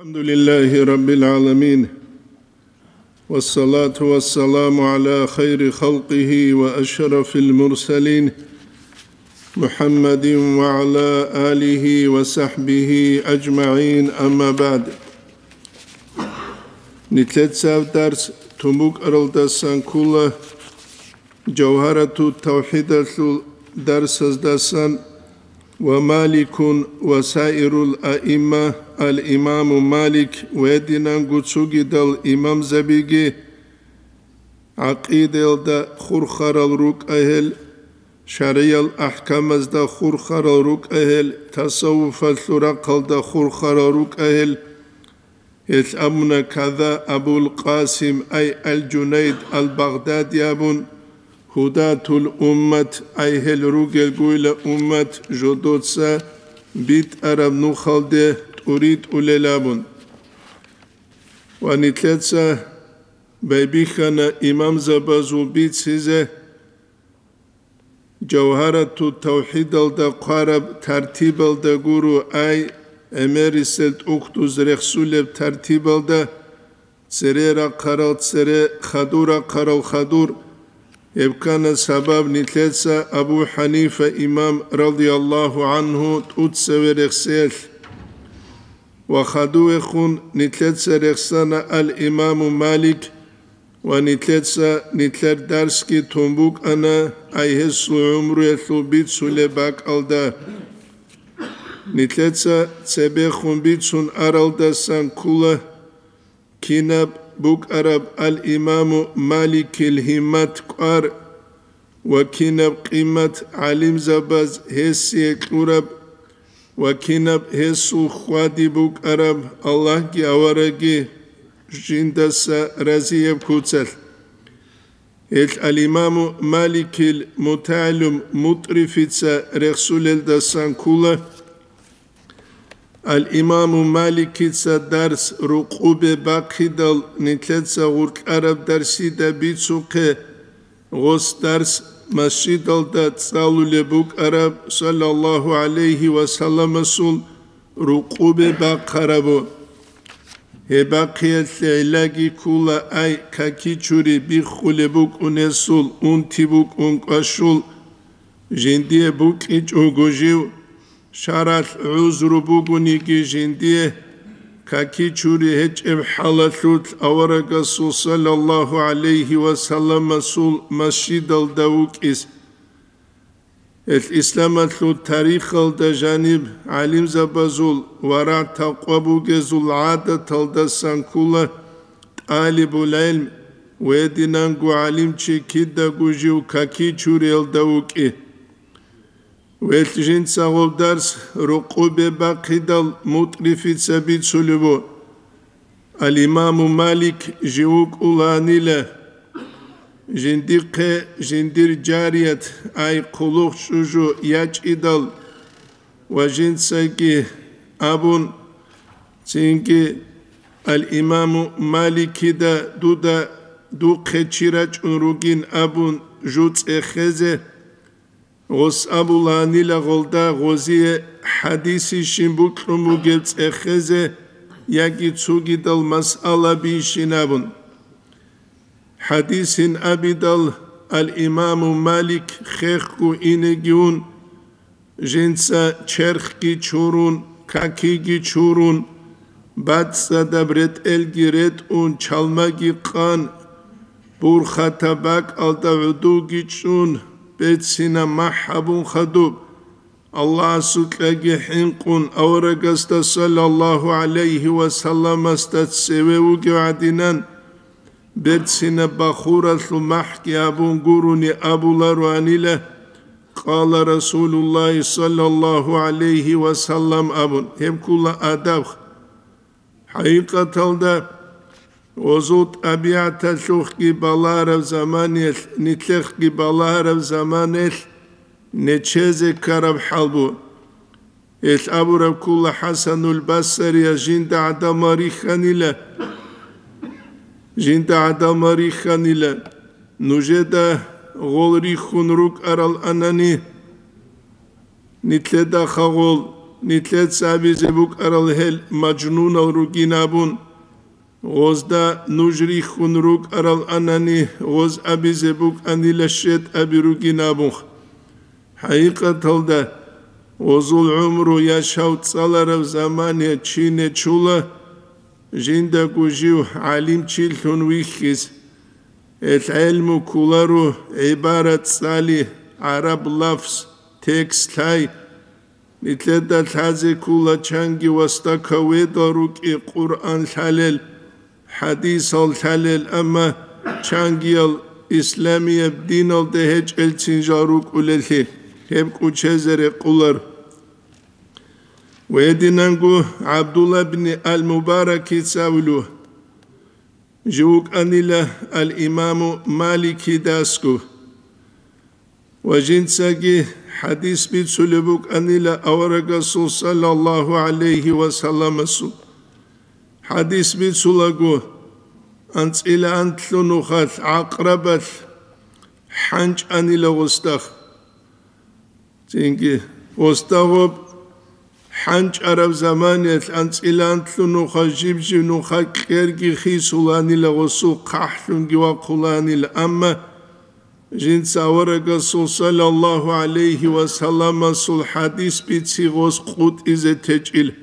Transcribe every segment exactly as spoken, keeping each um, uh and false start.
الحمد لله رب العالمين، والصلاة والسلام على خير خلقه وأشرف المرسلين، محمد وعلى آله وصحبه أجمعين، أما بعد. Нилъеца дарс тун букӀаралдасан ккола Жавгьарату тавхидалъул дарсаздасан: «Ва Маликун ва саирул аимма», ал-имаму Малик ва гьединанго цогидал имамзабиги, гӀакъидаялда хурхарал рукӀа гьел, шаргӀиял ахӀкамазда хурхарал рукӀа гьел, тасаввуфалъул рахъалда хурхарал рукӀа гьел, Гьелъ абуна када Абул Къасим, ай Ал-Жунайд Ал-Багъдади абун, гьудатул уммат, ай гьел ругелгойила уммат жодоца битӀараб нухалде тӀуритӀулел абун. Ва нилъеца байбихьана имамзабазул бицизе, Жавгьарату тавхидалда хъвараб тартибалда гуро, ай гӀемерисел тӀухьдуз рехсулеб тартибалда, цере рахъарал цере, хадур рахъарал хадур, гьеб ккана сабаб нилъеца Абу ХӀанифа имам радияллагьу гӀанхӀу тӀуцеве рехсеялъ. Ва хадувехун нилъеца рехсана ал-имаму Малик, ва нилъеца нилъер дарсги тун букӀана, ай гьесул гӀумруялъул бицулеб бакӀалда. Нилъеца цебехун бицун аралдасан ккола, кинаб букӀараб ал-имаму Маликил гьиммат кӀвар ва кинаб къимат гӀалимзабаз гьесие кьураб ва кинаб гьесул хьвади букӀараб, Аллагьги аварагги жиндаса разияб куцалъ. Гьелъ ал-имаму Маликил мутагӀалим Мутрифица рехсулелдасан ккола. Ал-имаму Маликица дарс рукъубе бахъидал, нилъеца гъуркьараб дарсида бицухъе, гъос дарс масжидалда цӀалулеб букӀараб саллаллагьу гӀалайгьи ва салламасул рукъубе бахъарабу. Гьеб бахъиялъе гӀиллаги ккола, ай какичури биххулеб букӀунесул, унти букӀун кӀвашул, жиндие букӀинчӀого жив, шаргӀалъ гӀузру бугониги жиндие, какичури гьечӀеб хӀалалъулъ аварагасул саллаллагьу гӀалайгьи ва салламасул масжидалда вукӀис. Гьелъ исламалъул тарихалда жаниб гӀалимзабазул варагӀ-такъва бугезул гӀадаталдасан ккола тӀалибул гӀелм ва гьединанго гӀалимчи кидаго жив какичуриялда вукӀи. Гьелъ жинца гъоб дарс рукъубе бахъидал Мутрифица бицулеб бу. Ал-имаму Малик жив вукӀуланила, жиндихъе жиндир жарият, ай хъулухъ чӀужу ячӀидал ва жинцаги абун, цинги ал-имаму Маликида дуда духъе чи рачӀун ругин абун жу цӀехезе, гъос абуланила гъолда гъозие хӀадисищин букьун бугеб цӀехезе яги цогидал масъала бийщин абун. ХӀадисин абидал ал-имаму Малик хехго инеги ун, жинца черхги чурун, какиги чурун, бацӀцӀадаб ретӀелги ретӀун, чалмаги къан, бурхатаб бакӀалда гӀодовги чӀун, берцинаб махӀ гьабун хадуб, Аллагьасукьаги хӀинкъун, аварагасда саллаллагьу гӀалайгьи ва салламасда цеве вугев гӀадинан, берцинаб бахуралъул махӀги гьабун гурони абулароанила, «Къала Расулуллагьи саллаллагьу гӀалайгьи ва саллам», абун, гьеб ккула адаб. ХӀакъикъаталда, гъозул тӀабигӀаталъухъги балагьараб заманаялъ, нилъехъги балагьараб заманаялъ нечезе ккараб хӀал бу. Гьелъ абураб ккула ХӀасанул Басарияс жинда гӀадамал рихьанила, жинда гӀадамал рихьанила, нужеда гъол рихьун рукӀарал анани, нилъеда хагъол, Нилъеца абизе букӀарал гьел мажнунал ругин абун, гъозда нуж рихьун рукӀарал анани, гъоз абизе букӀанила щетӀаби ругин абун. ХӀакъикъаталда, гъозул гӀумру яшав цӀалараб замане чи нечула, жиндаго жив гӀалимчилъун вихьиз. Гьел гӀелму кколаро гӀибарат цӀали, гӀараб лафз, текст лъай. Нилъеда лъазе ккола чанги вастакаведал рукӀи Къуръан лъалел, хӀадисал лъалел, амма чангиял исламияб диналде гьечӀелцин жал рукӀулеллъи, гьеб кӀучезе рекъолар. Гьединанго ГӀабдулла бни Ал-Мубаракица абулев, жив вукӀанила ал-Имаму Маликидасго. Ва жинцаги хӀадис бицулеб букӀанила аварагасул саллаллагьу гӀалайгьи ва салламасул. ХӀадис бицулаго, анцӀила анлъго нухалъ гӀакърабалъ хӀанчӀ анила гъосда. Цинги, гъосда гъоб хӀанчӀараб заманиялъ анцӀила анлъго нуха жиб-жиб нуха кьерги хисуланила, гъосул хъахӀлъунги вахъуланила, амма жинца аварагасул саллаллагьу гӀалайгьи ва салламасул хӀадис бици гъос къутӀизе течӀила.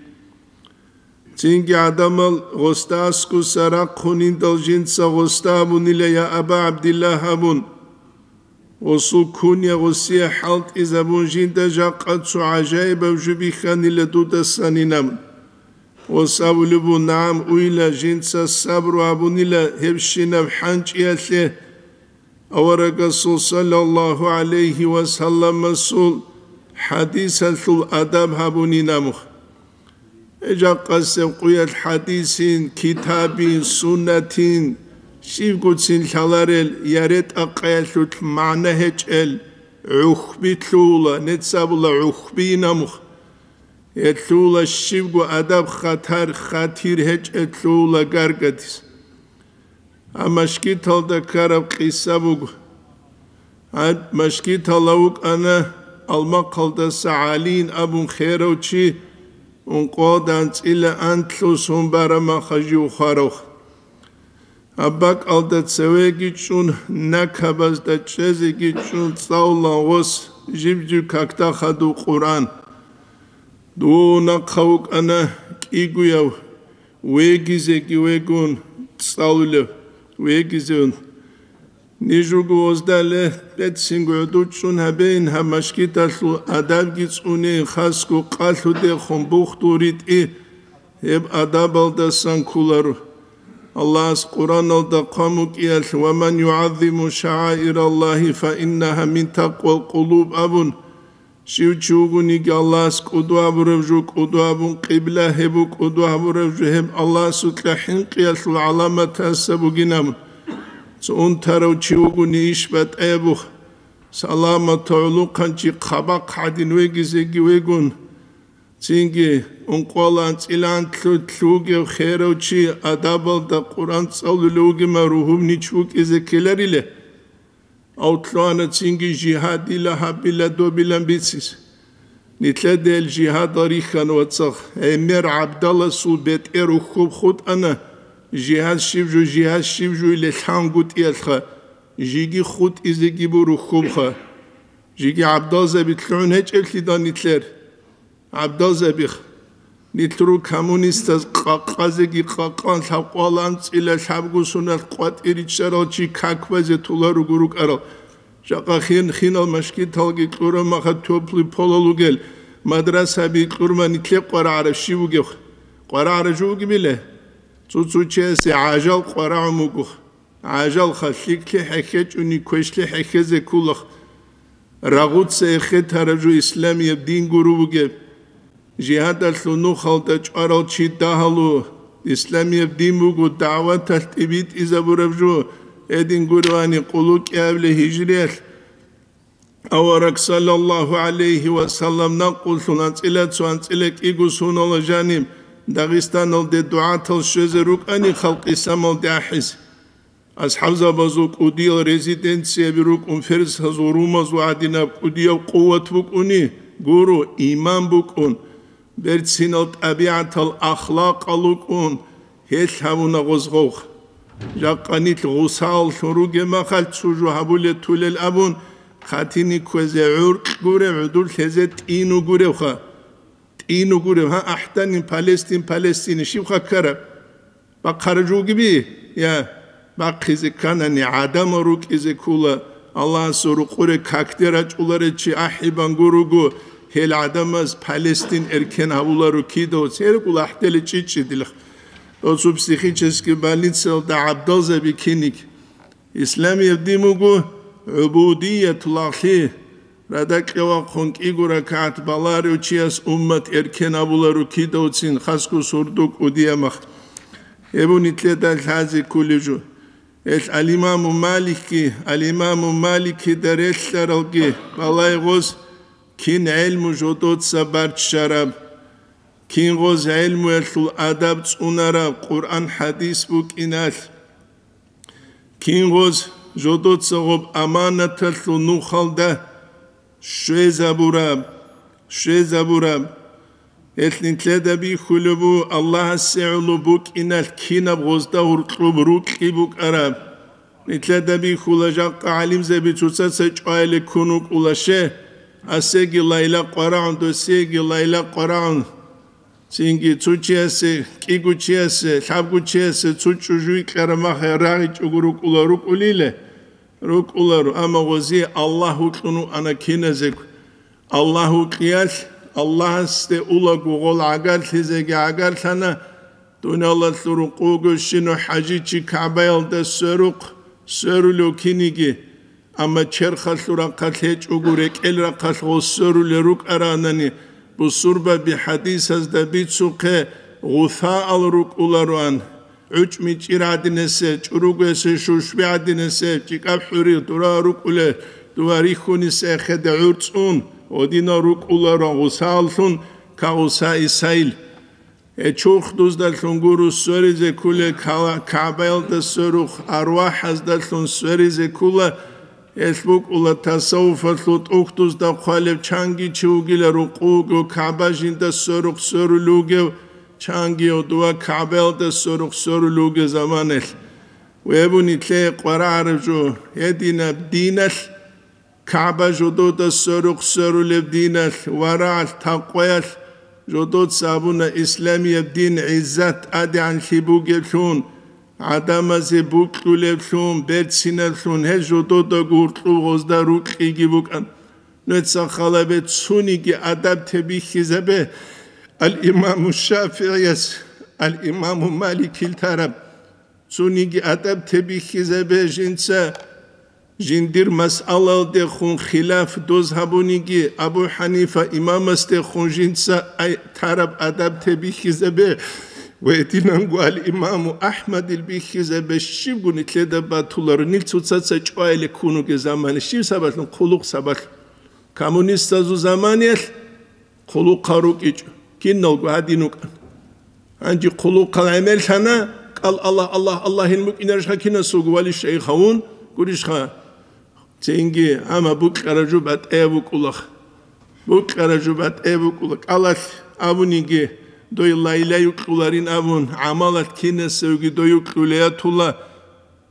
Цинги гӀадамал гъосда аскӀуса рахъуниндал жинца гъосда абунила: «Я Аба ГӀабдиллагь», абун. Гъосул куня гъосие хӀалтӀизабун жинда жакъа цо гӀажаибаб жо бихьанила дудасанин абун. Гъос абулеб буго: «НагӀам, уйла, жинца сабру гьабунила гьебщинаб хӀанчӀиялъе». Аварагасул саллаллагьу гӀалайгьи ва салламасул хӀадисалъул адаб гьабунин абун. Жакъасеб къуялъ хӀадисин, китабин, суннатин, щибгоцин лъаларел, я ретӀа-къаялъулъ магӀна гьечӀел гӀухьби лъугьула, нецабула гӀухьбийин абун. Гьелъула щибго адаб хатар, хатир гьечӀел лъугьула гаргадиз. Гьаб машгиталда ккараб къиса буго. Гьаб машгиталда вукӀана Алмахъалдаса ГӀалиин абун херав чи, ункъоялда анцӀила анлъго сон бараб мехалъ жив хварав. Гьаб бакӀалда цевеги чӀун, накабазда чӀезеги чӀун цӀалулан гъос жиб-жиб какда хадув Къуръан. Дов нахъа вукӀана кӀигояв, вегизеги вегун цӀалулев, вегизеун. Ниж руго гъоздале, бецинго гӀодов чӀун гьабейин, гьаб машгиталъул адабги цӀунейин, хасго къалъудехун бухдул ритӀи гьеб адабалдасан кколаро. Аллагьас Къуръаналда хъван букӀиналъ: «Ва ман югӀаззиму шагӀаираллагьи фа иннагьа мин такъвал къулуб», абун, щив чи вугониги Аллагьас кӀудо гьабурав жо кӀудо гьабун, къибла гьеб кӀудо гьабурав жо гьеб Аллагьасукьа хӀинкъиялъул гӀаламатаса бугин абун. Цо унтарав чи вугони иш батӀаябухъ, саламат гӀолохъанчи хъабахъ гӀадин вегизеги вегун. Цинги ункъоялда анцӀила анлъго лъугьунев херав чи адабалда Къуръан цӀалулев вугеб мехалъ ругьунчи вукӀизе ккеларила. Гьав лъугьана цинги жигьадила гьабила добилан бицизе. Нилъеда гьел жигьадал рихьана, вацал, гӀемер ГӀабдаласул бетӀер ухьуб хутӀана, жигьад щиб жо, жигьад щиб жо иле лъангутӀиялъха, жеги хутӀизеги бур ухьубха. Жеги ГӀабдалзаби лъугӀун гьечӀеблъидал нилъер. ГӀабдалзабих, нилъ ру коммунистаз къакъазеги къакъан лъабкъоялда анцӀила лъабго соналъ къватӀир риччарал чи как базе толаруго рукӀарал. Жакъа хин-хинал машгиталги кьураб мехалъ тёплый полал ругел мадрасаби кьураб, нилъее къварагӀараб щиб бугеб? КъварагӀараб жо бугебила? Цо-цо чиясе гӀажал къварагӀун буго. ГӀажалха, лъикӀлъи хӀехьечӀони квешлъи хӀехьезе кколаха. Рагъуца эхетараб жо исламияб дин гуро бугеб. Жигьадалъул нухалда чӀварал чи дагьалу, исламияб дин буго дагӀваталъ тӀибитӀизабураб жо, гьедин гурони къуллукъиабилеб гьижриялъ авараг саллаллагьу гӀалайгьи ва саллам накъуллъун анцӀила цо анцӀила кӀиго соналда жаниб Дагъистаналде дугӀатал щвезе рукӀани халкъ исламалде ахӀизе. АсхӀабзабазул кӀудиял резиденцияби рукӀун, ферсазул, румазул гӀадинаб кӀудияб къуват букӀуни, гуро, иман букӀун, берцинал тӀабигӀатал ахлакъал рукӀун, гьелъ гьавуна гъозгъов. Жакъа нилъ гъусааллъун ругеб махалъ цо жо гьабулел тулел абун, хъатине кквезе гӀуркь гурев, гӀудуллъезе тӀину гуревха. ТӀину гурев, гьа, ахӀданин Палестин, Палестин, щибха ккараб? Бахъараб жо бугеби? Я, бахъизе кканани, гӀадамал рукӀизе ккола, Аллагьасул рукъуре какде рачӀуларев чи ахӀибан гуруго, гьел гӀадамаз Палестин эркен гьавуларо кидаго, церекӀул ахӀдели чӀичӀчӀидилха. Досул психический больницаялда гӀабдалзаби киник. Исламияб дин буго гӀубудиятул ахлъи, радакьа вахъун кӀиго ракагӀат баларев чияс уммат эркен абуларо кидавцин, хасго сурду кӀудияб мах. Гьеб нилъеда лъазе кколеб жо. Гьелъ ал-Имаму Маликги, ал-Имаму Маликида релълъаралги балай гъоз, кин гӀелму жодоца барччараб, кин гъоз гӀелмуялъул адаб цӀунараб, Къуръан-хӀадис букӀиналъ. Кин гъоз жодоца гъоб аманаталъул нухалда щвезабураб, щвезабураб. Гьелъ нилъеда бихьулеб буго Аллагьасе гӀоло букӀиналъ кинаб гъозда гьуркьуб рукьи букӀараб. Нилъеда бихьула жакъа гӀалимзаби цоцаца чӀвайиле ккун вукӀула ще, асеги лайла къварагӀун, досеги лайла къварагӀун. Цинги цо чиясе, кӀиго чиясе, лъабго чиясе цо чӀужу викьараб мах рагъичӀого рукӀула рукӀулиле, рукӀуларо, амма гъозие Аллагь вукьун вуана киназего. Аллагь вукьиялъ, Аллагьасде улаго гъол гӀагарлъизеги гӀагарлъана, дуниялалъул рукъуго щино хӀажичи КагӀбаялда сверухъ, сверулев киниги. Амма черхалъул рахъалъ гьечӀого, рекӀел рахъалъ гъос сверулел рукӀаранани, бусурбаби хӀадисазда бицухъе гъусаал рукӀулароан, гӀучӀми чӀир гӀадинесеб, чӀуругесеб, шушби гӀадинесеб, чӀикӀаб хӀури дура рукӀулел, дува рихьунисехъеде гӀурцӀун, гъодинал рукӀулароан гъусааллъун, кагъусаисайил. Гьечухъ дуздалъун гуро сверизе кколел кала-, КагӀбаялда сверухъ, арвахӀаздалъун сверизе ккола, гьелъ букӀула тасаввуфалъул тӀухьдузда хъвалев чанги чи вугила рукъуго КагӀба жинда сверухъ сверулев вугев, чанги гьудува КагӀбаялда сверухъ сверулев вугев заманалъ. Вебу нилъее къварагӀараб жо, гьединаб диналъ КагӀба жодода сверухъ сверулеб диналъ, варагӀалъ, такъваялъ жодоца абуна исламияб дин гӀиззат тӀадегӀанлъи бугеблъун, гӀадамазе букьулеблъун, берцинаблъун, гьез жододаго гьуркьуб гъозда рукьиги букӀан. Нужеца халабе цониги адаб тебихьизабе, ал-Имаму ШафигӀияс, ал-Имаму Маликил тараб. Цониги адаб тебихьизабе жинца, жиндир масъалалдехун хилаф доз гьабуниги, Абу ХӀанифа имамасдехун жинца ай-, тараб адаб тебихьизабе ва гьединанго ал-Имаму АхӀмадил бихьизабе щибго нилъеда батуларо, нил цоцаца чӀвайиле ккун вугеб замане, щиб сабаблъун? Хъулухъ сабаблъун. Коммунистазул заманиялъ хъулухъал рукӀичӀо, киналго гьадин рукӀана. Гьанже хъулухъал гӀемерлъана, кӀал Аллагь, Аллагь, Аллагьин букӀинарищха кинасулго вали шайх гьавун гурищха? Цинги, амма букьараб жо батӀаяб букӀулаха. Букьараб жо батӀаяб букӀула. КӀалалъ абуниги, дой лайла юкьуларин абун, гӀамалалъ кинасевги дой юкьулеятула.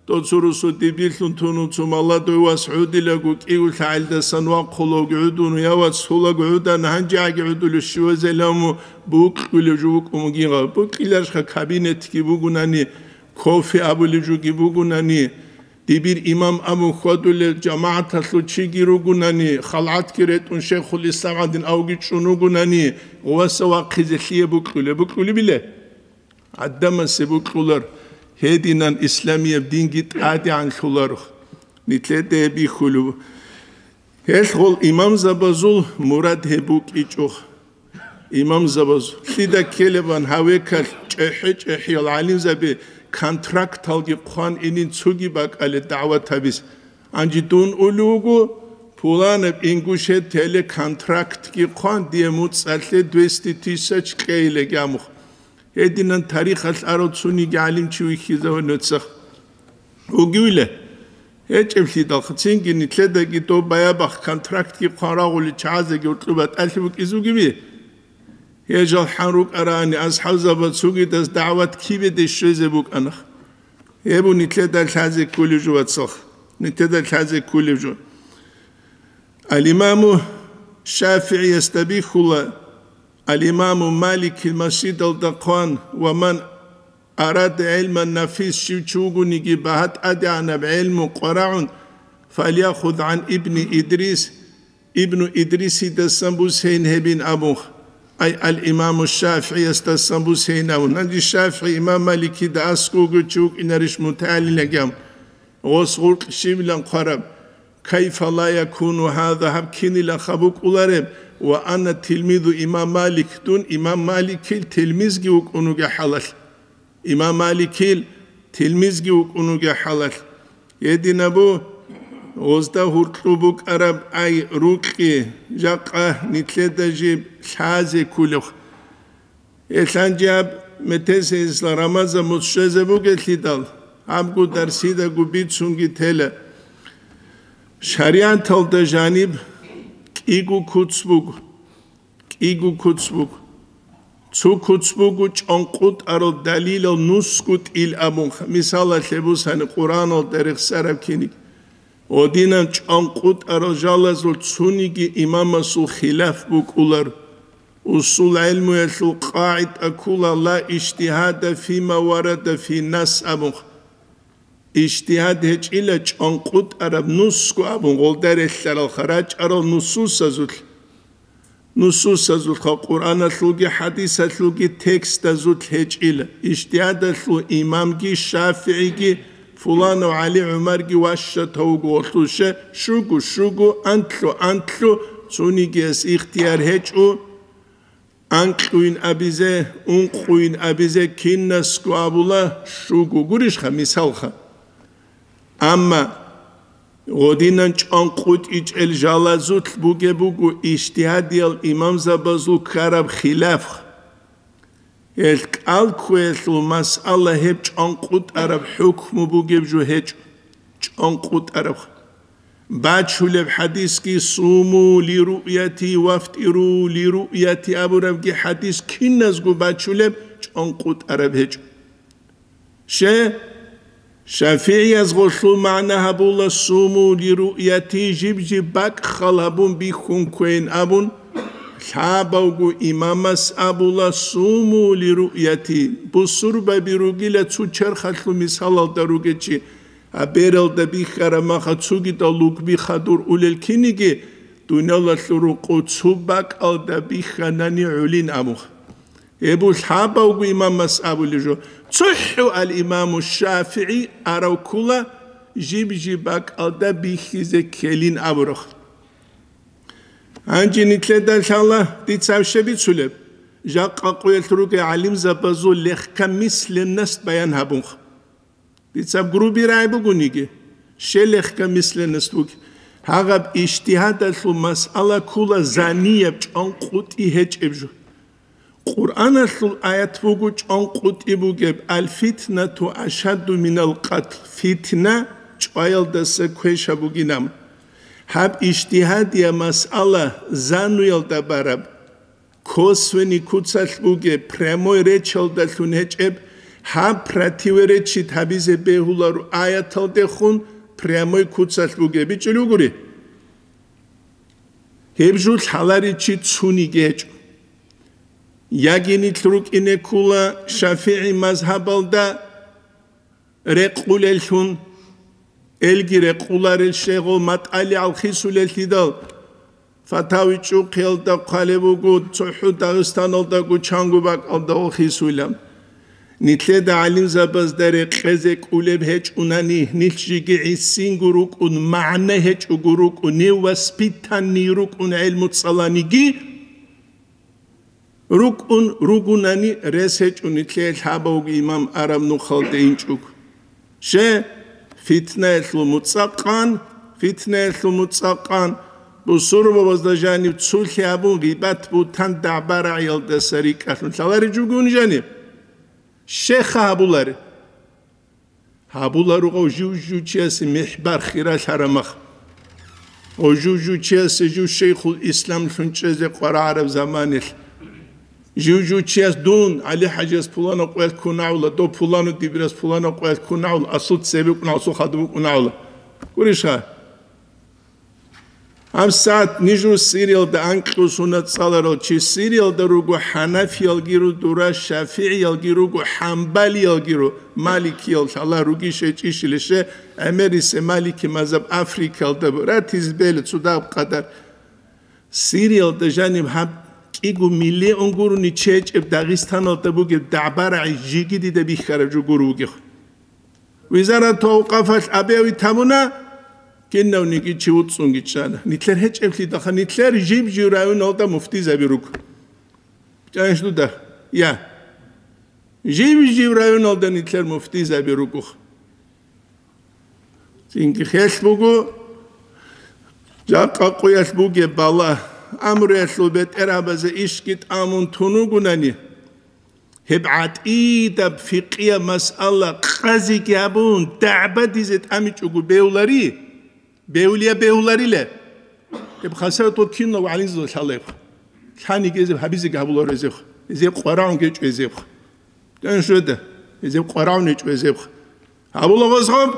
Доцурусу дибирлъун тунуцу маладуй вас гӀудилаго кӀиго лъагӀелдасан вахъулаго гӀудун, я вац, сулаго гӀудан, гьанжеги гӀудулев щивазеламу букьулев жо вукӀун вугин гъав. Букьиларищха кабинетги бугунани, кофе абулев жоги бугунани, дибир имам абун хьвадулев жамагӀаталъул чиги ругунани, халгӀатги ретӀун шейхул ислам гӀадин авги чӀун вугунани, гъуваса вахъизе лъие букьулеб? Букьулеб биле? ГӀадамасе букьулар, гьединан исламияб динги тӀадегӀанлъуларо, нилъеде бихьулев. Гьелъ гъол имамзабазул мурад гьеб букӀичӀо. Имамзабазул лъида ккелебан гьавекалъ чӀехӀе-чӀехӀиял гӀалимзаби контракталги хъван инин цоги бакӀале дагӀват гьабиз. Гьанже дун улев вуго, пуланаб Ингушетияле контрактги хъван, дие муцӀалъе двести тысяч кьейилеги амухъ. Гьединан тарихалъ арав цониги гӀалимчи вихьизаве нуцах. Вугевила? ГьечӀеблъидалха, цинги нилъедаги доб баябахъ контрактги хъван рагъули чагӀазеги гьоркьоб батӀалъи букӀизе бугеби? Гьежал хӀан рукӀарани, асхӀабзаба цугидас дагӀват кибеде щвезе букӀана. Гьеб нилъеда лъазе кколеб жо, вацал. Нилъеда лъазе кколеб жо. Ал-Имаму ШафигӀиясда бихьула, Ал-Имаму Маликил масжидалда хъван: «Ва ман арада гӀилман нафис», щив чи вугониги багьа тӀадегӀанаб гӀелму къварагӀун, «фальяхуд гӀан ибни Идрис», Ибну Идрисидасан бусейин гьебин абун, ай, ал-Имаму ШафигӀиясдасан бусейин абун. Гьанже ШафигӀи имам Маликида аскӀовго чи вукӀинарищ мутагӀалимилан гьав? Гъос гъуркь щивилан хъвараб? «Кайфа ла якуну гьаза», гьаб кинилаха букӀулареб? «Ва ана тилмизу имам Малик», дун имам Маликил тилмизги вукӀун вугеб хӀалалъ. Имам Маликил тилмизги вукӀун вугеб хӀалалъ. Гьединабу гъозда гьуркьу букӀараб ай рукьи, жакъа нилъеда жиб лъазе кколеб. Гьелъанчи гьаб метесейисла Рамазан муцӀ щвезе бугелъидал, гьабго дарсидаго бицунги тела. ШаригӀаталда жаниб кӀиго куц буго. КӀиго куц буго. Цо куц буго чӀанкъутӀарал далилал нусго тӀил абун, мисалалъе бусани Къуръаналда рехсараб киниг. Гьединан чӀанкъутӀарал жалазул цониги имамасул хилаф букӀулар. Усул гӀелмуялъул къагӀида ккола: «Ла ижтигьада фима варада фи нас», абун. Ижтигьад гьечӀила чӀанкъутӀараб нусго абун, гъолда релълъаралха рачӀарал нусусазулъ. Нусусазулъха, Къуръаналъулги хӀадисалъулги текстазулъ гьечӀила. Ижтигьадалъул имамги ШафигӀиги, фуланав ГӀали ГӀумарги ващатав вуго гъолъуше, щуго, щуго, анлъу, анлъу, цонигияс ихтияр гьечӀо. Анкьуйин абизе, ункъуйин абизе кинасго абула, щуго гурищха мисалха. Амма гъодинан чӀанкъутӀичӀел жалазулъ бугеб буго ижтигьадиял имамзабазул ккараб хилаф. Гьел кӀал кквеялъул масъала гьеб чӀанкъутӀараб хӀукму бугеб жо гьечӀо. ЧӀанкъутӀараб. Бачулеб хӀадисги: «Суму лируъяти вафтӀиру лируъяти», абурабги хӀадис киназго бачулеб, чӀанкъутӀараб гьечӀо. Ще, шафигӀияз гъолъул магӀна гьабула: «Суму лируъяти», жиб-жиб бакӀ хал гьабун бихьун кквейин абун, лъабавго имамас абула: «Суму лируъяти». Бусурбаби ругила цо черхалъул мисалалда ругечи, А бералда бихьараб маха цогидал лугби хадур улел киниги, дуниялалъул рукъу цо бакӀалда бихьанани гӀолин абуха. Гьеб лъабавго имамас абулеб жо, цохӀо ал-Имаму ШафигӀи арав ккола, жиб-жиб бакӀалда бихьизе ккелин абураб. Гьанже нилъеда лъала дица гьаб щиб бицулеб, жакъа къоялъ ругел гӀалимзабазул легкомысленность баян гьабунха. Дица грубый рагӀи бугониги, щел легкомысленность буги. Гьагъаб ижтигьадалъул масъала ккола занияб чӀанкъутӀи гьечӀеб жо. Къуръаналъул аят буго чӀанкъутӀи бугеб: «Аль-фитнату ашадду минал къатл», фитна чӀваялдаса квеша бугинаб. Гьаб ижтигьадияб масъала зануялда бараб. Косвенный куцалъ бугеб, прямой речалдалъун гьечӀеб, гьаб противоречить гьабизе бегьуларо аяталдехун прямой куцалъ бугеб, бичӀчӀулев гури? Гьеб жо лъаларичи цуниги гьечӀо. Яги нилъ рукӀине ккула ШафигӀи мазгьабалда, рекъулеллъун, элги рекъуларел щегъул матӀалигӀал хисулеллъидал, фатави чӀухъиялда хъвалеб буго, цохӀо Дагъистаналдаго чанго бакӀалда хисуйилан. Нилъеда гӀалимзабазда рекъезе кӀулеб гьечӀунани, нилъ жеги гӀисинго рукӀун, магӀна гьечӀого рукӀун, невоспитанный рукӀун гӀелму цӀаланиги, рукӀун ругунани рес гьечӀо нилъее лъабавги имам араб нухалде инчӀого. Ще, фитнаялъул муцӀакъан, фитнаялъул муцӀакъан, бусурбабазда жаниб цулъи гьабун гъибат-бугьтан дагӀба-рагӀиялдаса рикӀкӀалъун лъаларичӀого жаниб? Щеха гьабулари. Гьабуларо гъов жив-жив чиясе михӀбар хиралъараб мах. Гъов жив-жив чиясе жив шейхул исламлъун чӀезе къварагӀараб заманилъ. Жив-жив чияс дун, ГӀали-хӀажияс пулана къоялъ ккун гӀавла, дов пулану дибирас пулана къоялъ ккун гӀавла, асул цебе букӀун, асул хадуб букӀун гӀавла. Гурищха? ГьабсагӀат нижер Сириялда анкьго сунат цӀаларал чи Сириялда руго, хӀанафиялги ру-, дура, шафигӀиялги руго, хӀамбалиялги ру, маликиял лъала ругищ гьечӀищилище, гӀемерисе малики мазаб Африкаялда бу-, ратизе бегьила цо дагьаб къадар. Сириялда жаниб гьаб кӀиго миллион гурони чечӀеб Дагъистаналда бугеб дагӀба-рагӀи жеги дида бихьараб жо гуро вугев. Визарату авкъафалъ абиави тамуна, кинавниги чи вуцӀцӀунги чӀана. Нилъер гьечӀеблъидалха, нилъер жиб-жив районалда муфтизаби руго. ЧӀанищ дуда? Я. Жиб-жив районалда нилъер муфтизаби руго. Цинги хелъ буго, жакъа къуялъ бугеб бала, амруялъул бетӀергьабазе ишги тӀамун тун вугунани, гьеб гӀатӀидаб фикъияб масъала къазиги гьабун, дагӀба дизе тӀамичӀого бевлари, бевлия бевлариле. Гьеб хасаватал кинав гӀалимзабазда лъалеб. Лъаниги гьезеб гьабизеги гьабуларо гьезеб. Гьезеб къварагӀун гьечӀо гьезеб. ТӀен щведа, гьезеб къварагӀун гьечӀо гьезеб. Гьабула гъозгъоб,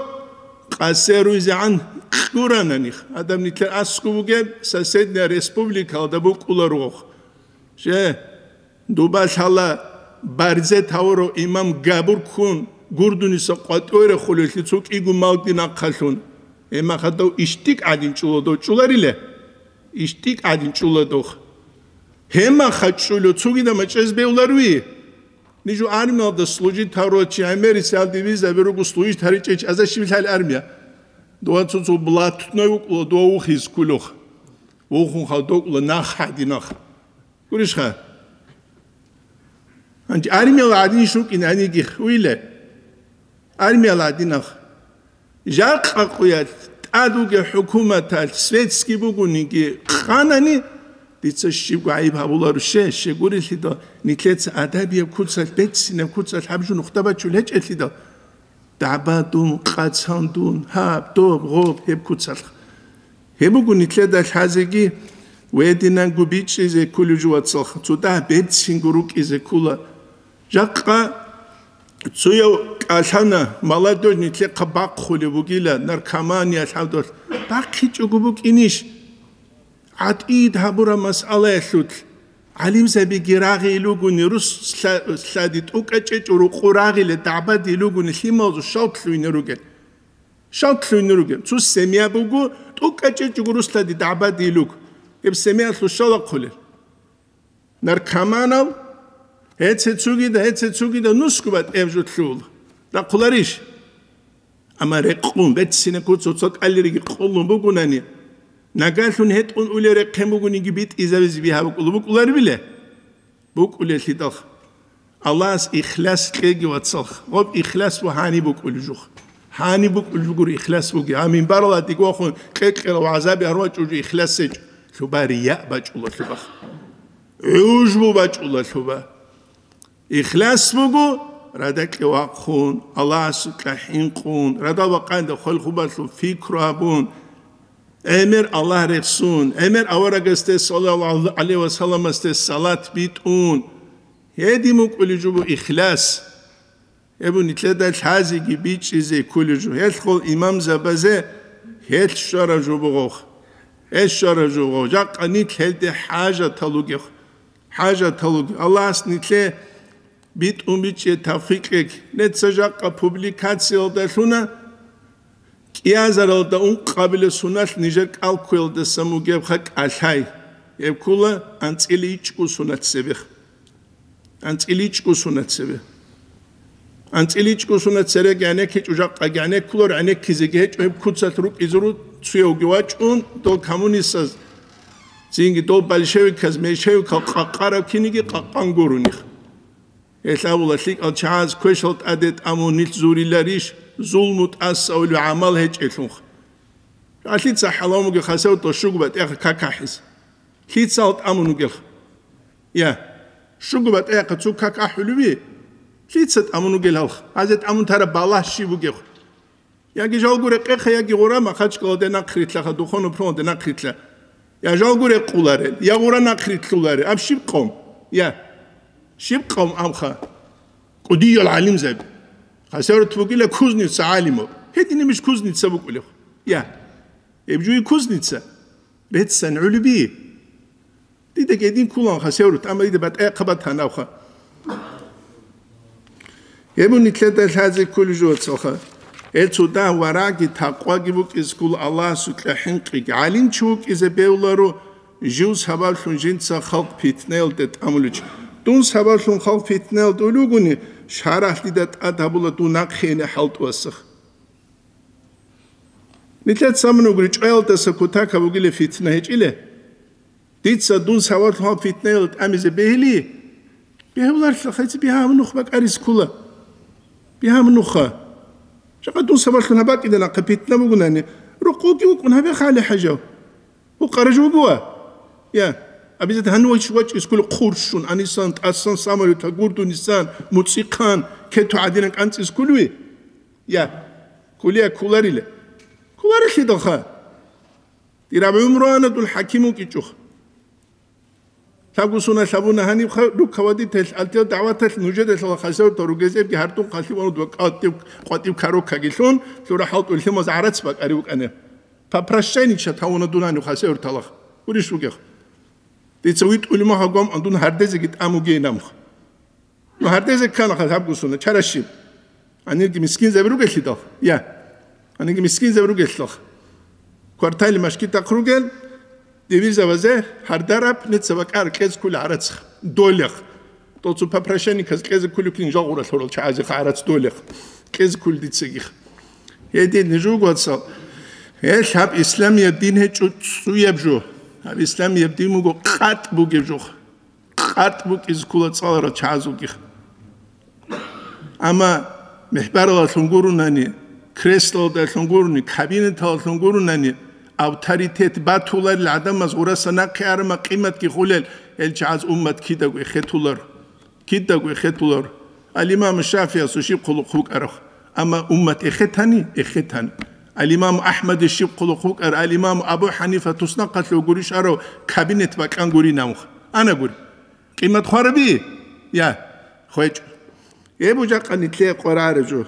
къасе руйзегӀан кьурананихъ. Адам нилъер аскӀов вугеб, соседняя республикалда букӀула ругъохъ. Же, дуба лъала барзе тавурав имам габур ккун, гурдуниса къватӀойрахъулелъи цо кӀиго малги нахъалъун. Гьемахадав иштӀик гӀадин чӀула дов чӀулариле? ИштӀик гӀадин чӀула дов. Гьемаха чӀулев цогидаб мачӀез бевларуи? Нижу армиялда служить гьарурал чи гӀемерисалде визаби руго служить гьаричӀев чи аза щиб лъали армия. Дова цо-цо блатной вукӀула, дова вухиз ккулухъ. Вухун хал докӀула нах гьадинахъ. Гурищха? Гьанже армияла гӀадин шукӀин гьаниги хуйле. Армияла гӀадинахъ. Жакъа къуялъ тӀад вугев хӀукуматалъ светский бугониги къанани, дица щибго гӀайиб гьабуларо, ще, щегурелъидал, нилъеца адабияб куцалъ, беццинаб куцалъ гьаб жо нухда бачул гьечӀелъидал, дагӀба дун, къацан дун, гьаб, доб, гъоб, гьеб куцалъ. Гьеб буго нилъеда лъазеги, вединанго бичӀчӀизе кколев жо, вацалха, цо дагь берцинго рукӀизе ккола. Жакъа цояв кӀалъана, молодёжь нилъехъа бахъулеб бугила, наркомания лъавдалъ бахъичӀого букӀинищ? ГӀатӀид гьабураб масъалаялъулъ гӀалимзабиги рагъи илугуни, рус лъа-, лъади тӀукӀачӀечӀо рукъу рагъиле дагӀбади илугуни, лъималазул шалт лъугьине ругел. Шалт лъугьине ругел. Цо семья буго, тӀукӀачӀечӀого рус лъади дагӀбади илуг. Гьеб семьялъул шала хъулел. Наркоманал, гьеце цугида, гьеце цугида нусго батӀияб жо лъугьула. Рахъуларищ? Амма рекъун, беццинаб куц цо кӀалириги къулун бугунани, нагагьлъун гьетӀун улел рехъен бугониги битӀизабизе бигьа букӀула, букӀуларибиле? БукӀулелъидал. Аллагьас ихлас кьеги, вацал. Гъоб ихлас ва гьаниб букӀулев жух. Гьаниб букӀулев гури ихлас буги. А минбаралда дигвахун кьекьела вагӀзаби гьарвачӀул жо ихлас гьечӀо. Лъуба рияъ бачӀула лъубах. ГӀужбу бачӀула лъуба. Ихлас буго, радакье вахъун, Аллагьасукьа хӀинкъун, радал бакъанде хвалхубалъун фикру гьабун, гӀемер Аллагь рехсун, гӀемер аварагасде саллаллагьу гӀалайгьи ва салламасде салат битӀун. Гьедин букӀулев жо бу ихлас. Гьеб бу нилъеда лъазеги бичӀчӀизе кколев жо. Гьелъ гъол имамзабазе гьелъ щварав жо бугъох. Гьелъ щварав жо бугъох. Жакъа нилъ гьелде хӀажатал ругев. ХӀажатал ругев. Аллагьас нилъе битӀун бичӀчӀе тавфикъ кьеги. Неца жакъа публикациялда лъуна, кӀиазаралда ункъабилеб соналъ нижер кӀалккуялдасан бугебха кӀалъай. Гьеб ккула анцӀила ичӀго сонат цебех. АнцӀила ичӀго сонат цебе. АнцӀила ичӀго сонат цереги гӀенеккичӀо, жакъаги гӀенеккуларо, гӀенеккизеги гьечӀо, гьеб куцалъ рукӀизе ру-, цуявги вачӀун, дол коммунистаз, цинги дол большевиказ, меньшевикал къакъараб киниги къакъан гурони. Гьелъ абула, лъикӀал чагӀаз квешал тӀаде тӀамун нилъ зуриларищ, зулму тӀаса улев гӀамал гьечӀелъунха. Алъица хӀалав муги хасав тӀощугу батӀиха какахӀиз. Лъицал тӀамун вугелха? Я, щуго батӀиха цо как ахӀулеви? Лъица тӀамун вугел гьалха? Гьазе тӀамун тараб балагь щиб бугебха? Яги жалго рекъеха, яги гъура Махачкалалде нахърилълъаха, Духовный фронталде нахърилълъа. Я жалго рекъуларел, я гъура нахърилълъуларел, аб щиб къом? Я. Щиб къавм абха? КӀудиял гӀалимзаби. Хасавюрт бугила кузница гӀалимаб. Гьединаб иш кузница букӀулев? Я. Гьеб жуги кузница. Реццани гӀолоби. Дида гьедин кколаан Хасавюрт, амма дида батӀа-, батӀа-, батана абха. Гьеб нилъеда лъазе кколеб жо, вацалха. Гьел цо дагь варагӀги такъваги букӀизе ккола Аллагьасукьа хӀинкъиги. ГӀалимчи вукӀизе бегьуларо, жив сабаблъун жинца халкъ питнаялде тӀамуличи. Дун сабаблъун халкъ питнаялде улугуни, шарагӀ дида тӀад гьабула дун нахъене хӀалтӀувасах. Нилъеца мун вугри чӀваялдаса кутакаб бугила фитна гьечӀила. Дица дун сабаблъун гьаб фитнаялде тӀамизе бегьили, бегьуларелъа, хъайцӀи бигьа гьаб нух бакӀарис ккола. Бигьа гьаб нуха. Жакъа дун сабаблъун гьаб бакӀида нахъа фитна бугунани, рукъуги вукӀун гьабе хали хӀажав. Гьукъара жо буго ва? Я, абизат гьанив вач-, вачӀис ккола хъурщун, анисан, тӀасан, самолёта гурдунисан, муцӀихъан, кету гӀадинан кӀанцӀис кколеви? Я, кколея кколарила. Кколарелъидалха. Дир аб гӀумруана дун хӀаким вукӀичӀо. Лъабго суна лъабуна гьанибха рукавадител алтел дагӀваталъ нужеда лъала хасавтал ругезебги гьардун хъалъи вануд ва къватӀив, къватӀив кароккаги лъун, лъура хӀалтӀулъимаз гӀарац бакӀари вукӀана. Попрощайнича тавуна дун гьанив хасавталах. Гурищ вугех. Дица витӀулимаха гвам андун гьардезеги тӀамугей намха. Ну, гьардезе ккана хъа гьаб гусуна, чара щиб. Гьанирги мискинзаби ругелъидал? Я. Гьанирги мискинзаби ругелъидал? Квартали машкитахъ ругел, дивизавазе гьардараб, неца бакӀар кьез ккули гӀарацха. Долех. Тоцу папрашаниказ кьезе ккуликин жагъура лъурал чагӀазе гӀарац долех. Кьез ккули дицагих. Гьедин жугоцал. Гьел гьаб исламияб дин гьечӀо цӀуяб жо. Гьаб исламияб дин буго къатӀ бугеб жо. КъатӀ букӀизе ккола цӀаларал чагӀазулги. Амма мехбаралалъун гурунани, креслалдалъун гуруни, кабинеталалъун гурунани, авторитет батуларел гӀадамаз гъураса нахъе арама къиматги хулел, гьел чагӀаз уммат кидаго эхетулар. Кидаго эхетулар. Ал-Имам ШафигӀиясул щиб хъулухъ букӀараб? Амма уммат эхетани? Эхетани. Ал-Имам АхӀмадил щиб хъулухъ букӀар? Ал-Имам Абу ХӀанифа туснахъалъув гурищ арав кабинет бакьан гури навх. Ана гури. Къимат хвараби? Я, хвечӀ. Эбу жакъа нитлъе къварареб жо.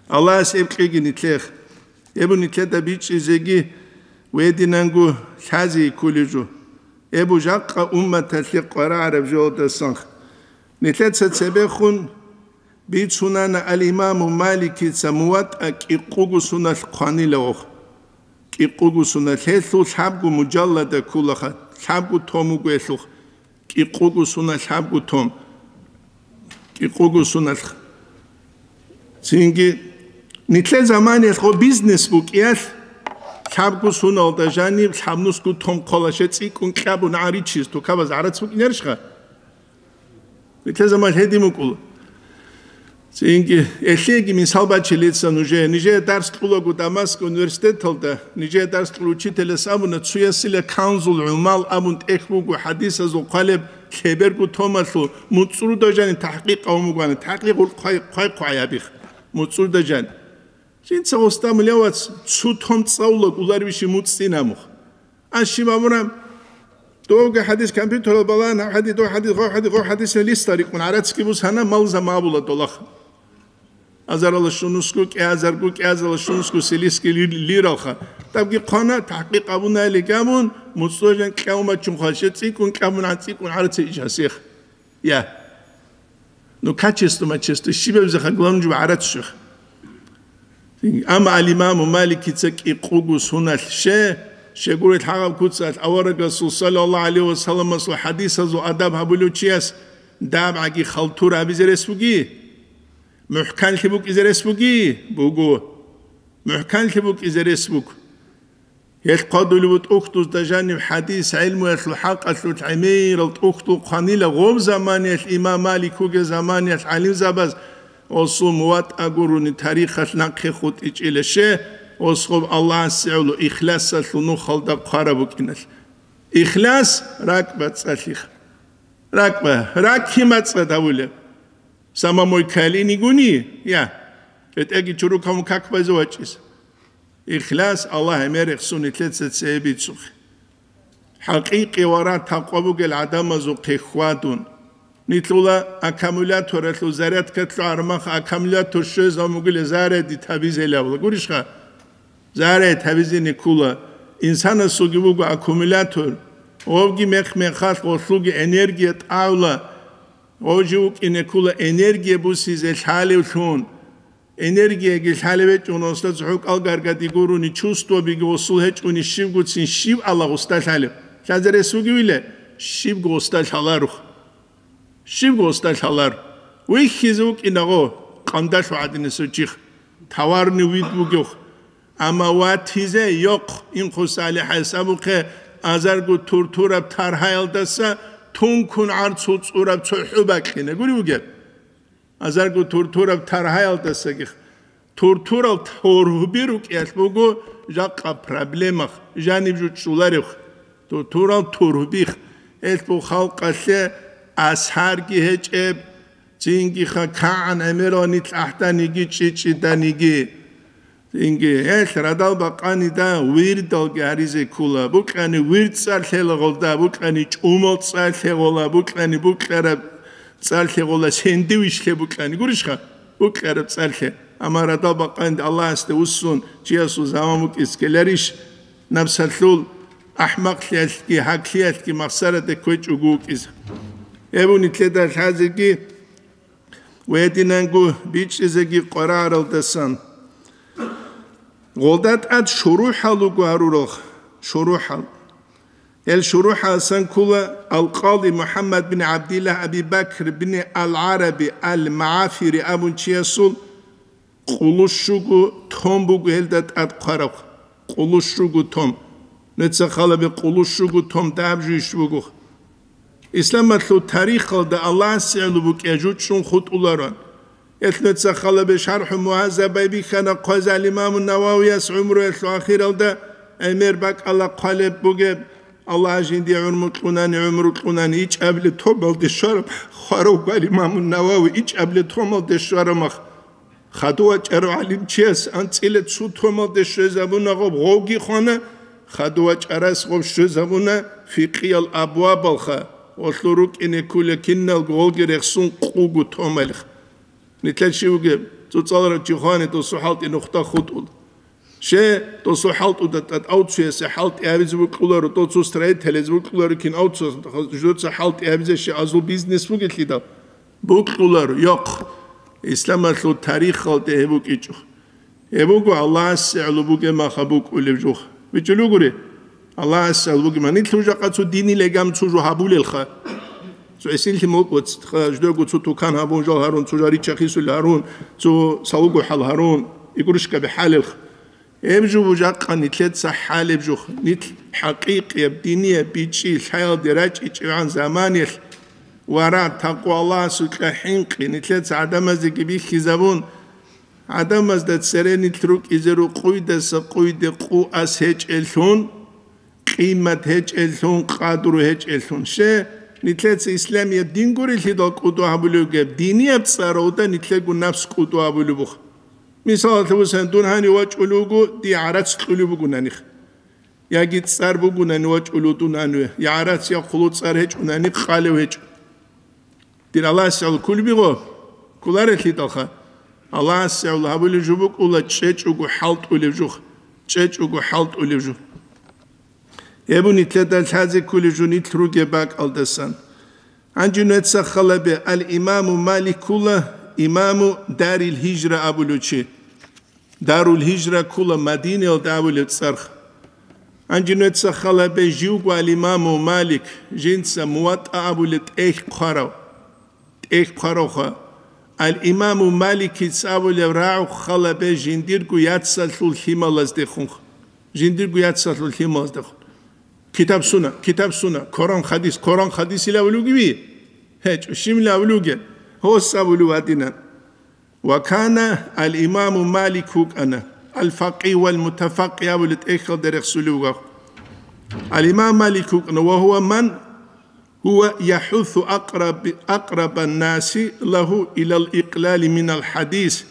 Аллагьас эб кьеги нитлъех. Эбу нитлъеда бичӀчӀизеги вединанго лъази ккулеб жо. Эбу жакъа умматалъе къварареб жолдасан. Нитлъеца цебехун бицунана ал-Имаму Маликица МуватӀа кӀикъуго суналъ хъванила ох. КӀикъуго суналъ гьелъул лъабго мужаллада кколаха, лъабго том буго гьелъухъ. КӀикъуго суналъ лъабго том. КӀикъуго суналъ. Цинги, нитлъе заманиялъ гъо бизнес букӀиялъ, лъабго суналда жаниб лъабнусго том хъолаше цӀикӀкӀун кьабун гӀаричиз тукабаз гӀарац букӀинарищха? Нитлъе заман гьедин букӀула. Цинги, элъеги мисал бачилица нужее. Нижее дарс кьулаго Дамаск университеталда, нижее дарс кьул учителяс абуна, цуясила Канзул ГӀумал абун тӀехь буго хӀадисазул хъвалеб лъеберго томалъул муцӀруда жани тахӀкъикъ гьавун бугоана. ТахӀкъикъ гъур хъвай-, хъвай-хъвай абих. МуцӀруда жани. Жинца гъоста мулевац цу том цӀалула кӀуларвищи муцӀцӀин амух. Ан щиб абураб? Довги хӀадис компьютерал балагьан, гьаб хӀадис, дов хӀадис, гъов хӀадис, гъов хӀадис, листа рикӀкӀун гӀарацги бусана, малза мабула долаха. Азарала шунусгу, кӀиазаргу, кӀиазала шунусгу селисги ли-, лиралха. Табги хъвана, тахӀкъикъ абунайли габун, муцӀцӀожан кьавмачун хвалче цӀикӀкӀун кьабун гӀан цӀикӀкӀун гӀараци ичасих. Я. Ну, качество, мачество, щибаб заха главный жуба гӀарац щих. Амма ал-Имаму Маликица кӀикъугу суналъ ще, щегурел хӀагъаб куцалъ авараг Расул саллаллаху гӀалайхи ва салламасул хӀадисазул адаб гьабулев чияс дабгӀаги халтур абизе рес буги? МухӀканлъи букӀизе рес буги? Буго. МухӀканлъи букӀизе рес буго. Гьелъ хъвадулев вуго тӀухьдузда жанив хӀадис гӀелмуялъул хӀакъалъулъ гӀемерал тӀухьдул хъванила гъоб заманиялъ имам Малик вугев заманиялъ гӀалимзабаз осул МуватӀа гурони тарихалъ нахъе хутӀичӀила ще, осгъоб Аллагьасе гӀоло ихласалъул нухалда хъвараб букӀиналъ. Ихлас ракӀба цӀалъих. РакӀба, ракӀ кимацӀа давулеб? Самамой калинигуни? Я. БетӀерги чурукавун как байзе вачӀиз. Ихлас Аллагь гӀемер рехсун нилъеца цебе бицухъе. ХӀакъикъи вара такъва бугел гӀадамазухъе хьвадун. Нилъула аккумуляторалъул зарядка лъугӀараб мах аккумулятор щвезабун бугила зарядить гьабизелавла. Гурищха? Зарядить гьабизене ккула. Инсанасулги буго аккумулятор. Гъовги мех-мехалъ гъолъулги энергия тӀагӀула. Гъов жив вукӀине ккула энергия бусизе лъалевлъун. Энергияги лъалев гьечӀун, гъосда цохӀо кӀалгаргади гурони, чувствобиги гъосул гьечӀони, щибгоцин щиб Аллагь гъосда лъалев? Лъазарес вугевила, щибго гъосда лъаларух. Щибго гъосда лъалар. Вихьизе вукӀинагъо, къандалъу гӀадинасев чих, товарный вид вугевх. Амма ватизе йохъ, инхъу салихӀайс абухъе, азарго туртураб таргьаялдаса тункун гӀарцул цӀураб цохӀо бакьине. Гури вугеб? Азарго туртураб таргьаялдасаги, туртурал тургьби рукӀиялъ буго жакъа проблемах, жаниб жо чӀоларев. Туртурал тургьбих, гьелъ бу халкъалъе асарги гьечӀеб, цинги ха кагӀан гӀемерал нилъ ахӀданиги чӀичӀиданиги. Инги, гьелъ радал бакъанида вирдалги гьаризе ккола, букьани вирд цӀар лъелагъолда, букьани чӀумал цӀар лъегъола, букьани букьараб цӀар лъегъола, сендвичлъе букьани. Гурищха? Букьараб цӀар лъе. Амма радал бакъанида Аллагьасде вуссун чиясул заман букӀиз ккеларищ? Напсалъул ахӀмакълъиялъги гьаклъиялъги махсараде кквечӀого вукӀизе. Гьеб нилъеда лъазеги ва гьединанго бичӀчӀизеги къварагӀаралдасан. Гъолда тӀад шурухӀал руго гьарурал, шурухӀал. Гьел шурухӀаласан ккола Ал-Къади МухӀаммад бин ГӀабдиллагь Аби Бакр бин Ал-ГӀараби Ал-МагӀафири абун чиясул къулущуго том буго гьелда тӀад хъвараб. Къулущуго том. Нуца халаби къулущуго том даб жуйищ буго. Исламалъул тарихалда Аллагьасе гӀоло букӀа жучӀун хутӀуларо. Гьелъ нуца халабе ШархӀу Мугьаззабай бихьана хъвазал имаму Нававияс гӀумруялъул ахиралда гӀемер бакӀала хъвалеб бугеб, Аллагь жиндие гӀумру кьунани, гӀумру кьунани ичӀабли томалде щвараб, хварав гвар имаму Навави ичӀабли томалде щварамах. Хадув вачӀарав гӀалимчияс анцӀила цу томалде щвезабуна гъоб гъовги хвана, хадув вачӀарас гъоб щвезабуна фикъиял абвабалха, гъолъул рукӀине ккула киналго гъолги рехсун къуго томалих. Нилъер щивги цоцӀаларав чи хвани досу хӀалтӀи нухда хутӀул. Щай досу хӀалтӀуда тӀад авцуясе хӀалтӀи гьабизе букӀуларо, доцу строителез букӀуларо кин авцуяс, жуца хӀалтӀи гьабизе щай азул бизнес бугелъидал? Букьулар, йохъ, исламалъул тарихалде гьеб букӀичӀо. Гьеб буго Аллагьасе гӀоло бугеб маха букӀулеб жух. БичӀулугури, Аллагьасе гӀоло бугеб ман. Нилъ жакъа цо динил легам цо жо гьабулелха. Цо эсиллъи мукӀуц, ха, ждего цо тукан гьабун жал гьарун, цо жарича хисул гьарун, цо салугу хӀал гьарун, игрушкаби хӀалелха. Гьеб жо бужахъа нилъеца хӀалеб жух, нилъ хӀакъикъияб динияб бичӀчӀи лъаялде рачӀичӀевгӀан заманиялъ вара такъва Аллагьасукьа хӀинкъи нилъеца гӀадамаздеги бихьизабун, гӀадамазда цере нилъ рукӀизе рукъуйдаса къуйде къу ас гьечӀеллъун, къимат гьечӀеллъун, къадру гьечӀеллъун. Ще, нилъеца исламияб дин гурелъидал кӀуду гьабулевги, динияб цӀаравда нилъего напс кӀуду гьабулебухъ. Мисалалъе бусани, дун гьанив вачӀулев вуго, дие гӀарац кьулеб бугонаних. Яги цӀар бугонани вачӀулев дун гьаниве, я гӀарац, я хъулу цӀар гьечӀунани къалев гьечӀо. Дир Аллагьасе гӀоло кколеб буго, кколарелъидалха. Аллагьасе гӀоло гьабулеб жо букӀула чӀечӀого хӀалтӀулеб жо, чӀечӀого хӀалтӀулеб жо. Гьеб нилъеда лъазе кколеб жо нилъ ругеб бакӀалдасан. Гьанже нуеца халабе, ал-Имаму Малик ккула, имаму Дарил Гьижра абулев чи. Дарул Гьижра ккула Мадинаялда абулеб цӀарх. Гьанже нуеца халабе, живго ал-Имаму Малик, жинца МуватӀа абулеб тӀехь хъварав. ТӀехь хъваравха. Ал-Имаму Маликица абулеб рагӀухъ халабе жиндирго яцалъул лъималаздехунха. Жиндирго яцалъул лъималаздехун. Китаб-сунна, китаб-сунна, Коран-хадис, Коран-хадис илавулев вугеви? ГьечӀо, щиб илавулев вугев? Гьос абулев гьадинан. Ва кана ал-Имаму Малик вукӀана, ал-факъигь вал-мутафаккигь абулеб тӀехьалда рехсулев вугев. Ал-Имам Малик вукӀана, ва гьува ман гьува яхӀусу акъраб-, акърабан-наси лагьу илал икълали минал хадис.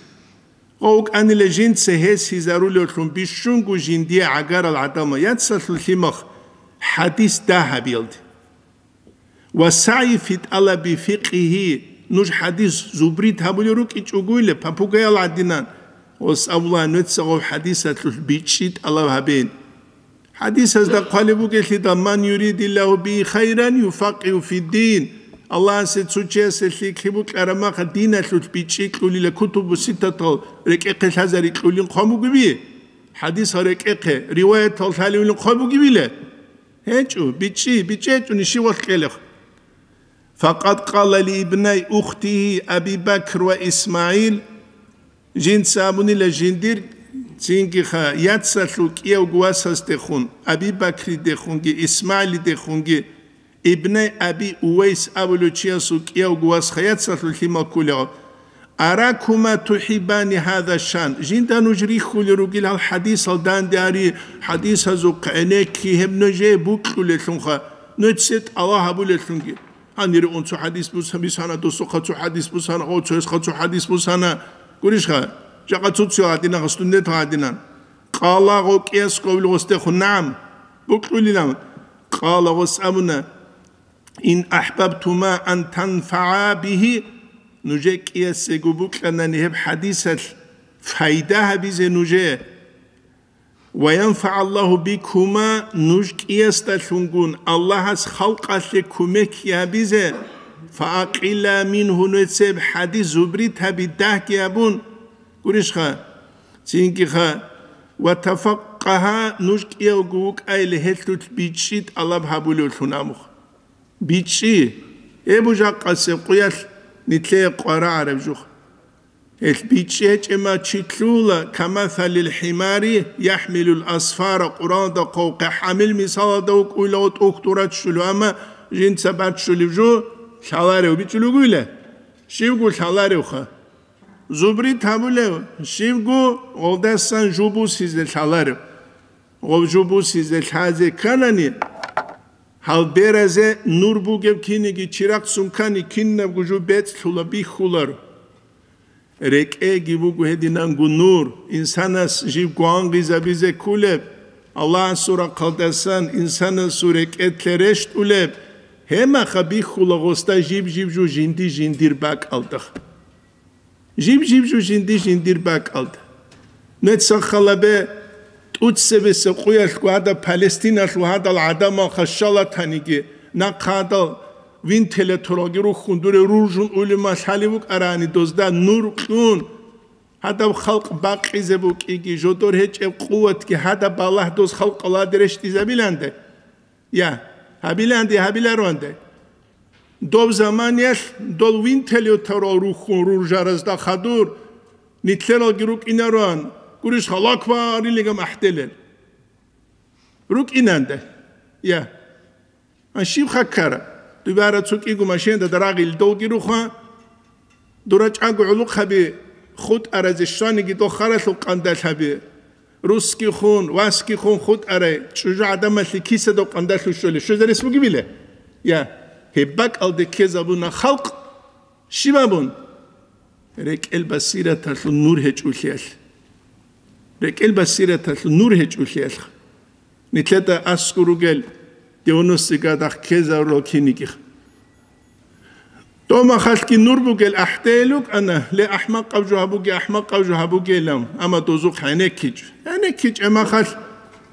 Гъов вукӀанила жинца гьес гьизарулевлъун бищунго жиндие гӀагарал гӀадамал яцалъул лъимах хадис дагьабиялде. Ва сагӀи фи тӀалаби фикъгьи, нуж хӀадис зубрит гьабулел рукӀичӀогойилан, попугаял гӀадинан, гъос абула, нуца гъов хӀадисалъулъ бичӀчӀи тӀалаб гьабен. ХӀадисазда хъвалеб бугелъидал: «Ман юридиллагьу бигьи хайран юфаккигьу фиддин». Аллагьасе цо чиясе лъикӀлъи букьараб махъа диналъулъ бичӀчӀи кьулила, кутубу ситтатал рекӀехъе лъазари кьулин хъван бугеби? ХӀадисал рекӀехъе, риваятал лъалевлин хъван бугебила? ГьечӀо, бичӀчӀи, бичӀчӀи гьечӀо, ниши валъ кьелехъ. Факъад къала ли ибнай ухтигьи Аби Бакр ва ИсмагӀил, жинца абунила жиндир, цинги ха, яцалъул кӀиявго васасдехун, Аби Бакридехунги ИсмагӀилидехунги, ибнай Аби Увайс абулев чиясул кӀиявго вас ха, яцалъул лъимал кколев. Аракума тухибани гьада шан. Жинда нуж рихьулел ругел гьал хӀадисал данде гьари, хӀадисазухъ гӀенекки, гьеб нужее букьулелъунха, нуцде тӀалаб гьабулелъунги. Гьанире ун цо хӀадис бус-, бисана, досухъа цо хӀадис бусана, о, цоясха цо хӀадис бусана. Гурищха, жакъа цо-цо гьадина, студент гьадина. Къала гъо кӀияс кколел гъосдехун, нагӀам, букьулилан. Къала гъос абуна, ин ахӀбабтума ан танфагӀа бигьи, нужее кӀиясего букьанани гьеб хӀадисалъ пайда гьабизе нужее, ва янфагӀаллагьу бикума, нуж кӀиясдалъунгун Аллагьас халкъалъе кумекги гьабизе, фаакъила мингьу, нуцеб хӀадис зубрит гьаби, дагьги гьабун, гурищха, цинги ха, ва тафаккагьа, нуж кӀиявго вукӀайли гьелъулъ бичӀчӀи тӀалаб гьабулевлъун абухъ. БичӀчӀи, гьеб жакъасеб къуялъ нилъее къварагӀараб жух. Гьелъ бичӀчӀи гьечӀеб мехалъ чи лъугьула, камасалил хӀимари яхӀмилул асфара, Къуръаналда хъван, хӀамил мисалалда вукӀуйла, тӀухь дураччулев, амма жинца баччулев жо лъаларев бичӀчӀулев вугила? Щивго лъаларевха. Зубрит гьабулев, щивго гъолдасан жо бусизе лъаларев. Гъов жо бусизе лъазе кканани, гьал беразе нур бугеб киниги чирахъ цун ккани, кинабго жо бецӀлъула, бихьуларо. РекӀеги буго гьединанго нур, инсанас жив гвангъизабизе кколеб, Аллагьасул рахъалдасан инсанасул рекӀелъе рещтӀулеб, гьеб мехалъ бихьула гъосда жиб-жиб жо жинди-жиндир бакӀалда. Жиб-жиб жо жинди-жиндир бакӀалда. Нуца халабе тӀуцебесеб къуялъго гьадаб Палестиналъул гьадал гӀадамал хашалатаниги, нахъа гьадал вентиляторалги рухьун дуре ружун улима лъалев вукӀарани, дозда нур кьун, гьадаб халкъ бакъизе букӀиги, жодор гьечӀеб къуватги гьадаб балагь доз халкъалде рещтӀизабиланде. Я, гьабиланде, гьабиларуанде. Доб заманиялъ дол винтелев тарал рухьун руржаразда хадур, нилъералги рукӀинаруан, гурищ халакварилигам ахӀделел. РукӀинанде. Я. А щиб хаккара? Дубара цукӀиго машинада дарагъил долги рухъа, дура чӀаго гӀулухъаби хутӀаразе щваниги дол харалъул къандалъаби. Русскихун, васкихун хутӀарай, чӀужу гӀадамалъе кисадав къандалъув щолеб, щвезарес бугебила? Я, гьеб бакӀалде ккезабуна халкъ. Щиб абун? РекӀел басираталъул нур гьечӀулъиялъ. РекӀел басираталъул нур гьечӀулъиялъ. Нилъеда аскӀор ругел девяностый годах ккезарурал кинигих. Томахалъги нур бугел ахӀдейил рукӀана, ле ахӀмакъаб жо гьабуге, ахӀмакъаб жо гьабугейилан, амма дозухъ гӀенеккичӀ. ГӀенеккичӀеб махалъ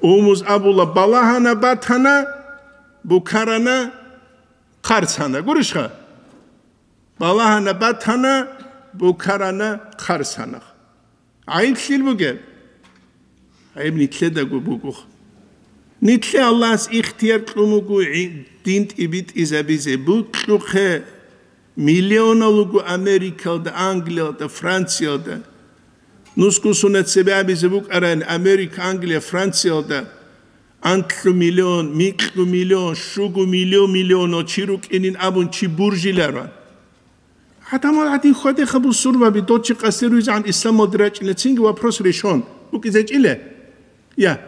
умуз абула, балагьана батана, букарана, хъарцана. Гурищха? Балагьана батана, букарана, хъарцана. ГӀайиблъил бугеб? ГӀайиб нилъедаго буго. Нилъе Аллагьас ихтияр кьун буго гӀи-, дин тӀибитӀизабизе. Букьухъе, миллионал руго Америкалда, Англиялда, Франциялда. Нусго сунат цебе абизе букӀарани Америка, Англия, Франциялда анлъу миллион, микьу миллион, щугу миллион, миллионал чи рукӀинин абун чи буржиларо. ГӀадамал гӀадин хьвадеха бусурбаби, дол чи къасде руйзегӀан исламалде рачӀина, цинги вопрос решен. БукӀизечӀила? Я.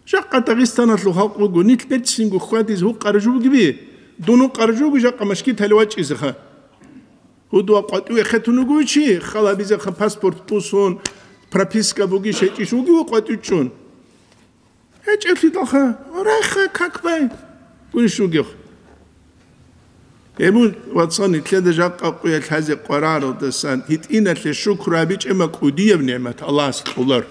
Жакъа Дагъистаналъул халкъ буго, нилъ берцинго хьвадизе гьукъара жо бугеби? Дун гьукъара жо буго жакъа машгиталде вачӀизеха. Гьудуа къватӀиве хетун вуго чи, халабизеха паспорт бусун, прописка бугищ гьечӀищ вугев къватӀив чӀун? ГьечӀеблъидалха, райха, как бай. Гурищ вугев. Гьеб вацал нилъеда жакъа къуялъ гьазе къвараралдасан гьитӀиналъе шукру гьабичӀеб ма кӀудияб нигӀмат Аллагьас кьолар.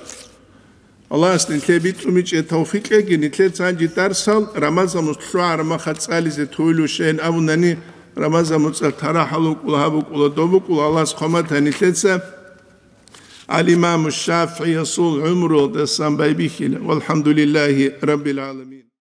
Аллагьас нилъее бицунеб гьечӀеб тавфикъ кьеги, нилъеца гьанже дарсал Рамазан муцӀ лъугӀараб мехалъ цӀализе тойилищин абунани, Рамазан муцӀалъ тарахӀал вукӀула, гьаб букӀула, доб букӀула, Аллагьас хъван батани нилъеца ал-Имаму ШафигӀиясул гӀумруялдасан байбихьила. Валхамдулиллагьи раббил гӀаламин.